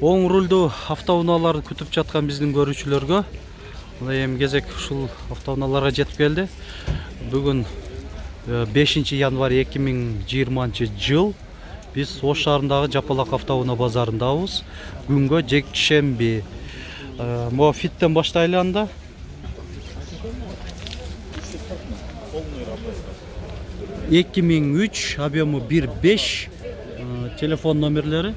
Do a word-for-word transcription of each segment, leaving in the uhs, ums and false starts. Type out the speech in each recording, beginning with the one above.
Оң рулдуу автоунааларды күтүп жаткан биздин көрүүчүлөргө мына эми кезек ушул автоунааларга жетип келди. Бүгүн бешинчи январь эки миң жыйырманчы жыл. Биз Ош шаарындагы Жапалак автоунаа базарындабыз. Күнгө жекшемби. Могу фиттен баштайлы анда. эки миң үч, объему бир беш, телефон номерлери.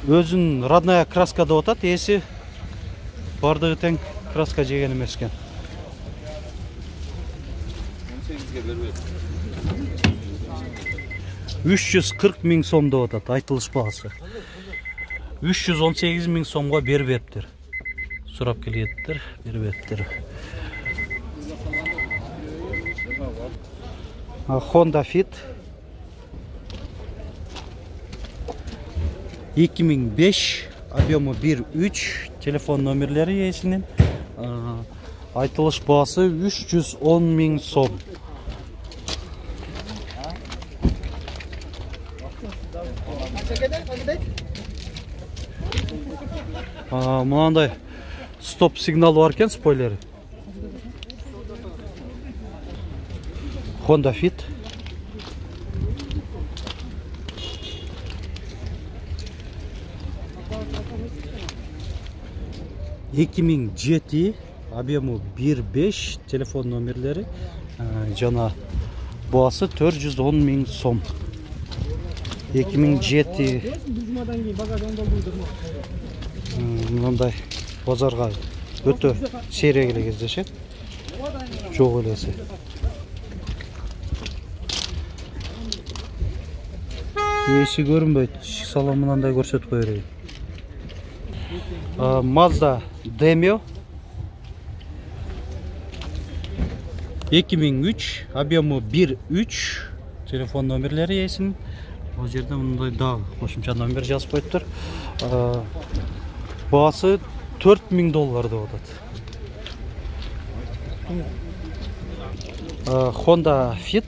Өзүн родная краска деп атат, эси бардыгы тең краска жеген эмес экен. үч жүз кырк миң сом деп атат, айтылыш баасы. үч жүз он сегиз миң сомго бербептир. Сурап келеттир, бербептир. Honda Fit эки миң беш, объему бир үч, телефон номерлери ээсинин. Айтылыш баасы үч жүз он миң сом. Мынандай стоп сигнал бар экен, спойлери. Honda Fit. эки миң жети, объему бир беш, телефон номерлери жана баасы төрт жүз он миң сом. эки миң жети. Мындай базарга өтө сейрек эле кездешет. Жок элеси. Эши көрүнбөйт. Салон мындай көрсөтүп кое берейин. Mazda Demio эки миң үч, объему бир үч, телефон номерлери ээсинин. Бул жерде мындай дагы кошумча номер жазып коюптур. Баасы төрт миң доллар деп атат. Honda Fit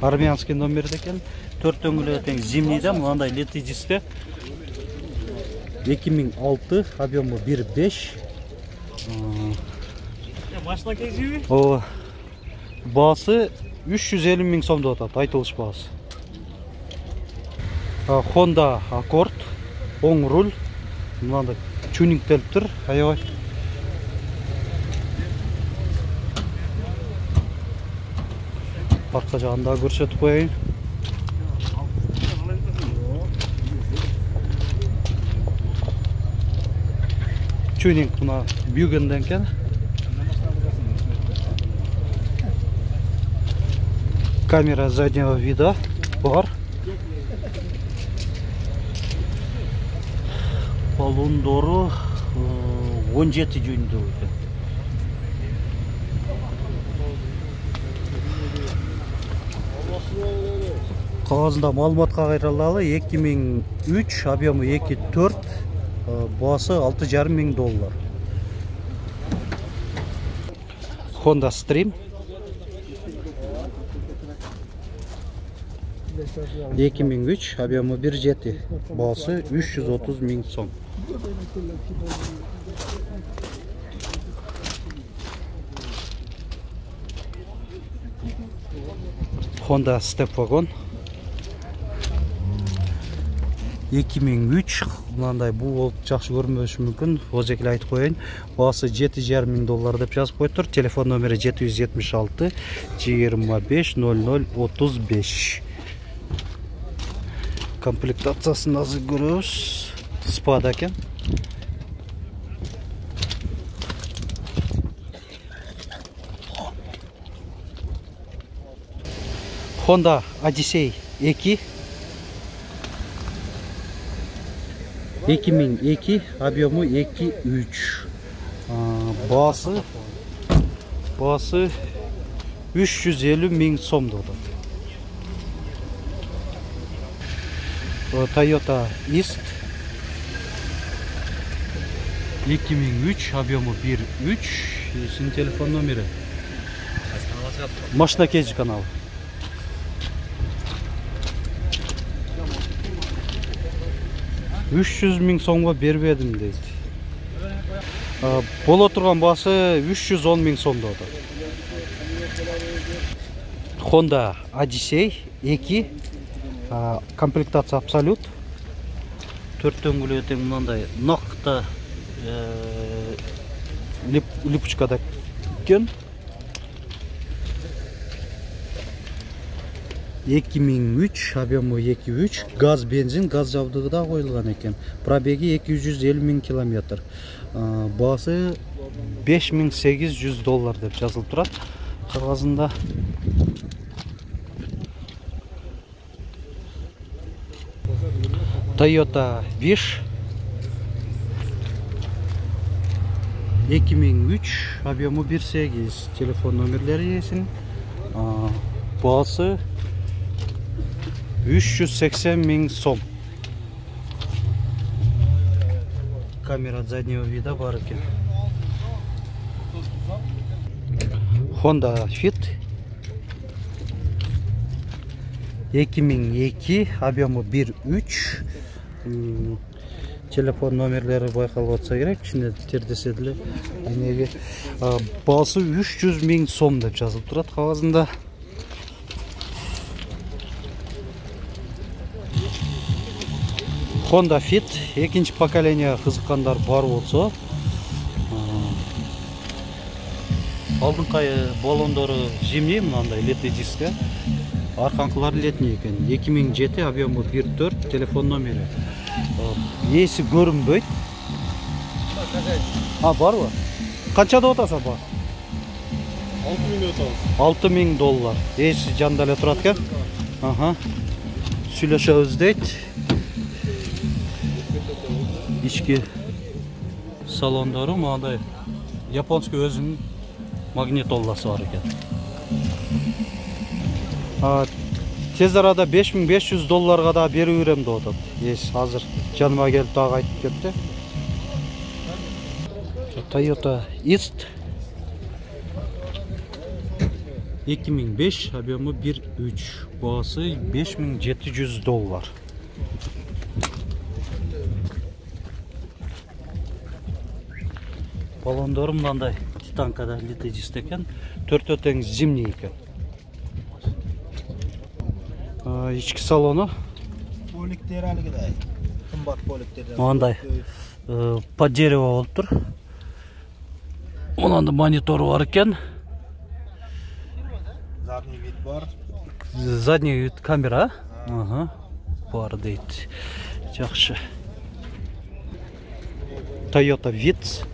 армянский номерде экен. төрт дөңгөлөгү тең зимнийде, мындай летидисте. эки миң алты, объему бир беш. Машина кезиби? Ооба. Баасы үч жүз элүү миң сом деп атат, айтылыш баасы. Honda Accord, оң руль, мындай чунингтелиптир, аябай. Арка жагында көрсөтүп коеюн. Чунинг мына Бюгенден экен. Камера заднего вида бар. Балондору он жети дюймдүү экен. Кагазында маалыматка кайрылалы эки миң үч, объему эки төрт, баасы алты жарым миң доллар. Honda Stream эки миң үч, объему бир жети, баасы үч жүз отуз миң сом. Honda Step Wagon эки миң үч, мындай бул болуп жакшы көрүнбөшү мүмкүн. Озек эле айтып коеюн. Баасы жети жарым миң доллар деп жазып коюптур. Телефон номери жети жүз жетимиш алты, жыйырма беш, ноль ноль, отуз беш. Комплектациясын азыр көрөбүз. Спада экен. Honda Odyssey эки эки миң эки, объему эки үч. Баасы баасы үч жүз элүү миң сом деп атат. Toyota East эки миң үч, объему бир үч, синин телефон номери Машина Кейджи каналы. үч жүз миң сомго бербедим дейт. Боло турган баасы үч жүз он миң сом деп атат. Honda Odyssey эки, комплектация абсолют. төрт дөңгөлөгү тең мындай накта липучкада экен. эки миң үч, объему эки үч, газ бензин, газ жабдыгы да коюлган экен. Пробеги эки жүз элүү миң километр. Баасы беш миң сегиз жүз доллар деп жазылып турат кагазында. Toyota Wish эки миң үч, объему бир сегиз, телефон номерлери эсин. Баасы үч жүз сексен миң сом. Камера заднего вида бар экен. Honda Fit эки миң эки, объему бир үч. Телефон номерлери байкалып атса керек, ичинде тердесе деле. Эмеге баасы үч жүз миң сом деп жазылып турат кагазында. Honda Fit экинчи поколение кызыккандар бар болсо, алдыңкы баллондору зимний, мынандай летний диске, арканкылары летний экен. эки миң жети, объему бир төрт, телефон номери. Эси көрүнбөйт. А, барбы? Канча деп атасың ба? алты миң деп атабыз. алты миң доллар. Эси жанда эле турат экен. Аха. Сүйлөшөбүз дейт. Ички салондору мындай японский өзүнүн магнитоласы бар экен. Тез арада беш миң беш жүз долларга да берип берем деп атат. Эс азыр жаныма келип дагы айтып кетти. Toyota East эки миң беш, объему бир үч, баасы беш миң жети жүз доллар. Баллондору мындай титанкада литий диск экен, төртөө тең зимний экен. Ички салону Поликтер алгыдай. Кымбат поликтер. Мындай под дерево болуп тур. Мынандай монитору бар экен. Задний вид бар. Задний вид камера. Ага. Бар дейт. Жакшы. Toyota Vitz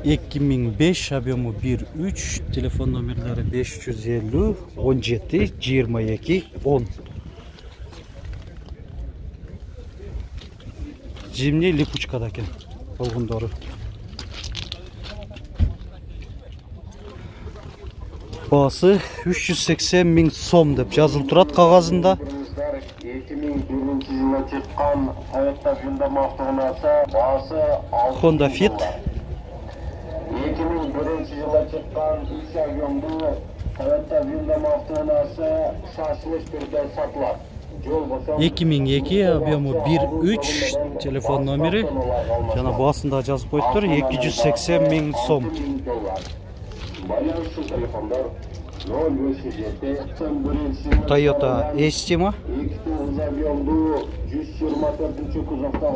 эки миң беш, объему бир үч, телефон номерлери беш жүз элүү он жети жыйырма эки он. Зимний липучкада экен болгондору. Баасы үч жүз сексен миң сом деп жазылып турат кагазында. эки миң биринчи жылы чыккан Toyota Hyundai автоунасы баасы Honda Fit эки миң биринчи жылы чыккан үч объемдуу Toyota Hyundai автоунасы шашылыш түрдө сатылат. эки миң эки, объему бир үч, телефон номери жана баасында жазып коюптур, эки жүз сексен миң сом. Байланыштуу телефондор ноль беш жети Toyota Estima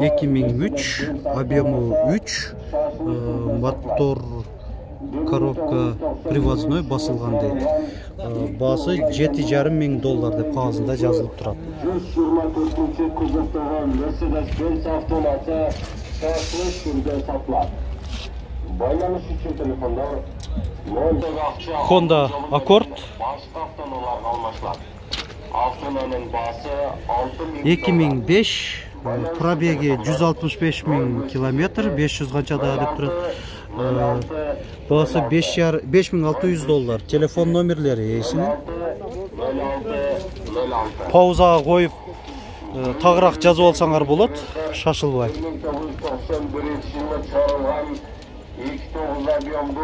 эки миң үч, объему үч, мотор коробка привозной басылган дейт. Баасы жети жарым миң доллар деп кагазында жазылып турат. жүз жыйырма төртүнчү кузовдогу Mercedes-Benz автоунасы шашылыш түрдө сатылат. Байланыш үчүн телефондор Honda Accord эки миң беш, пробеги жүз алтымыш беш миң километр, беш жүз канчада деп турат. Баасы беш миң алты жүз доллар. Телефон номерлери эсинин. Паузага коюп тагыраак жазып алсаңар болот, шашылбай. миң тогуз жүз токсон биринчи жылы чыгарылган эки тогуз объемдуу